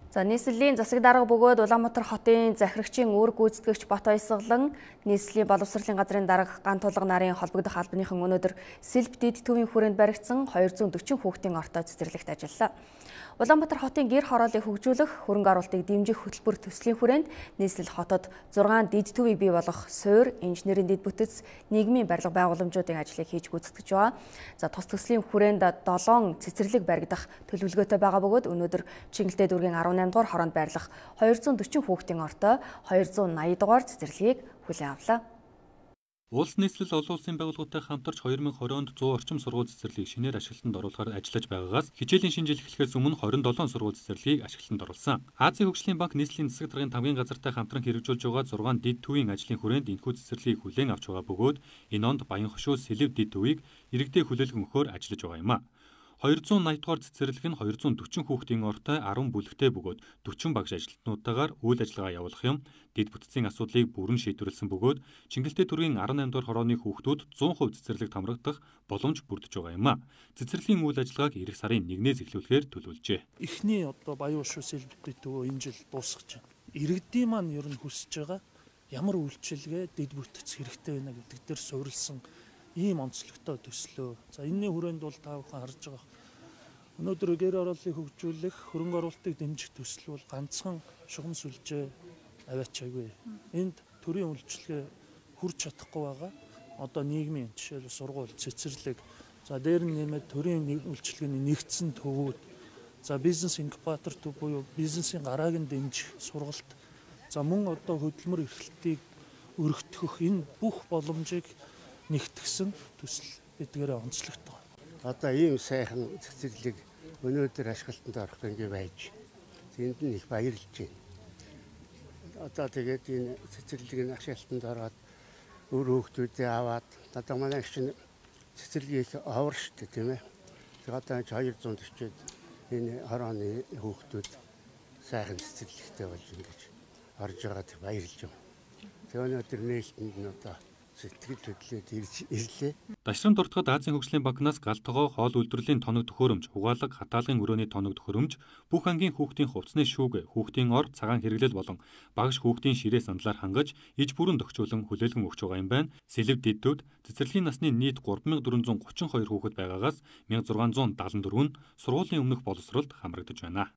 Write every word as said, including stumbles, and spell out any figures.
За нийслэлийн засаг дарга бөгөөд Улаанбаатар хотын захирагчийн үүрэг гүйцэтгэгч Бат Баясгалан нийслэлийн боловсролын газрын дарга Ган Тулга нарын холбогдох албаныхан өнөөдөр Сэлб Дид төвийн хүрээнд баригдсан двести forty хүүхдийн ортой цэцэрлэгт ажиллалаа. Улаанбаатар хотын гэр хорооллыг хөгжүүлэх, хөрөнгө оруулалтыг дэмжих хөтөлбөр төслийн хүрээнд нийслэл хотод зургаан дид төвийг бий болгох суурь, инженерийн дэд бүтэц, нийгмийн барилга байгууламжуудын ажлыг хийж гүйцэтгэж байгаа. За тус төслийн хүрээнд долоон цэцэрлэг баригдах төлөвлөгөөтэй байгаа бөгөөд өнөөдөр Чингэлтэй дүүргийн арван наймдугаар хороонд байрлах двести forty хүүхдийн ортой двести eighty дугаар цэцэрлэгийг хүлээн авлаа. Улс нийслэл олон улсын байгууллагатай хамтарч two thousand twenty онд one hundred орчим сургууль цэцэрлэгийг шинээр ашиглалтанд оруулахаар ажиллаж байгаагаас хичээлийн шинжил эхлэхээс өмнө twenty-seven сургууль цэцэрлэгийг ашиглалтанд оруулсан. Азийн хөгжлийн банк нийслэлийн засаг даргын тамгын газартай хамтран хэрэгжүүлж байгаа six дид төвийн ажлын хүрээнд энэхүү цэцэрлэгийг хүлээн авч байгаа бөгөөд энэ онд Баян хошуу Сэлб дид төвийг иргэдэд хүлээлгэн өгөхөөр ажиллаж байгаа юм а. two hundred eighty дугаар цэцэрлэг нь two hundred forty хүүхдийн ортой ten бүлэгтэй бөгөөд forty багш ажилтнуудтайгаар үйл ажиллагаа явуулах юм. Дэд бүтцийн асуудлыг бүрэн шийдвэрлсэн бөгөөд Чингэлтэй дүүргийн eighty-nine дугаар хорооны хүүхдүүд one hundred percent цэцэрлэг хамрагдах боломж бүрдэж байгаа юм а. Цэцэрлэгийн үйл ажиллагааг эх сарын нэгнээс эхлүүлэхээр төлөвлөжээ. Эхний одоо Баян хошуу Сэлб дид төвөө энэ жил дуусгаж байна. Иргэдийн маань ер нь хүсэж байгаа ямар үйлчилгээ дэд бүтц хэрэгтэй байна гэдэг дээр суурилсан ийм онцлогтой төслөө. За энэний хүрээнд бол та бүхэн харж байгаа. Өнөөдөр гэр хорооллыг хөгжүүлэх, хөрөнгө оруулалтыг дэмжих төсөл бол ганцхан шугам сүлжээ аваачаагүй. Энд төрийн үйлчилгээ хүрч чадахгүй байгаа. Одоо нийгмийн жишээл сургууль, цэцэрлэг, за дээр нь нэмээд төрийн үйлчилгээний нэгдсэн төвүүд, за бизнес инкубатор төв буюу бизнесийн гарааг нь дэмжих сургалт, за мөн одоо хөдөлмөр эрхлэлтийг өргөтгөх энэ бүх боломжийг нэгтгсэн төсөл эдгээрээ онцлогтой. Одоо ийм сайхан цэцэрлэг өнөөдөр ашиглалтанд орох ингэ байж энд нь их баярлж байна. Одоо тэгээд энэ цэцэрлэгийн ашиглалтанд ороод өөр хүүхдүүдээ аваад одоо манай чинь цэцэрлэг их овор штэ тийм ээ. Тэгээд одоо two hundred forty энэ хорооны хүүхдүүд сайхан цэцэрлэгтэй болж ингэж орж байгаад баярлж байна. Тэгээд өнөөдөр нээлтэнд нь одоо сэтгэл хөдлөлд ирлээ. Дашрам дуртахад Азийн хөгжлийн банкнаас гал тогоо, хоол үйлдвэрлэлийн тоног төхөөрөмж, угаалга, хатаалгын өрөөний тоног төхөөрөмж, бүх ангийн хүүхдийн хувцсны шүүгэ, хүүхдийн ор, цагаан хэрэглэл болон багш хүүхдийн ширээ сандлаар хангаж, иж бүрэн тохижуулан хүлээлгэн өгч байгаа юм байна. Сэлб дид төвд цэцэрлэгийн насны нийт three thousand four hundred thirty-two хүүхэд байгаагаас one thousand six hundred seventy-four нь сургуулийн өмнөх боловсролд хамрагдаж байна.